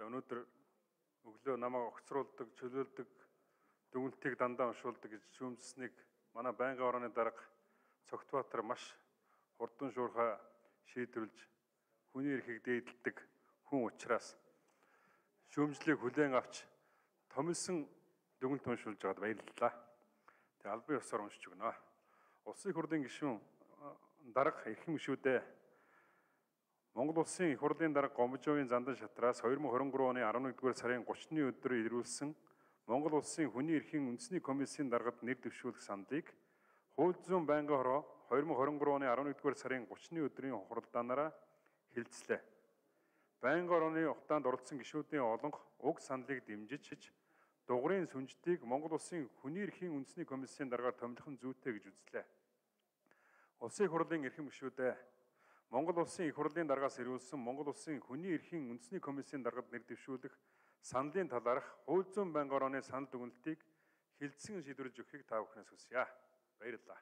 За өнөөдөр өглөө намайг огцруулдаг, чөлөөлдөг, дүгнэлтийг дандаа уншуулдаг гэж шүүмжсэнийг манай байнгын орооны дарга Цогтбаатар маш хурдан шуурхай шийдвэрлэж хүний эрхийг дээдэлдэг хүн учраас шүүмжлийг хүлээн авч томилсон дүгнэлт уншуулж байгаад баярлалаа. Тэгээ албан ёсоор уншиж өгнө. Улсын их хурлын гишүүн дарга эрхэм гишүүдээ Монгол улсын их хурлын дарга Гомжовын зандан шатраас 2023 оны 11-р сарын 30-ны өдөр ирүүлсэн Монгол улсын хүний эрхийн үндэсний комиссийн даргад нэр дэвшүүлэх саналыг Хууль зүйн байнгын хороо 2023 оны 11-р сарын 30-ны өдрийн хуралдаанаараа хэлэлцлээ. Байнгын орооны ухаанд оролцсон гишүүдийн олонх уг саналыг дэмжиж дугуйн сүнждийг Монгол улсын хүний эрхийн үндэсний комиссийн даргаар томилхон зүйтэй гэж үзлээ. Улсын их хурлын эрхэм гишүүдээ Монгол улсын их хурлын даргаас ирүүлсэн Монгол улсын хүний эрхийн үндэсний комиссийн даргад нэр дэвшүүлэх саналын талаарх Хууль зүйн байнгын орооны санал дүгнэлтийг хилцэн шийдвэрлэж өгөхийг та бүхнээс хүсье. Баярлалаа.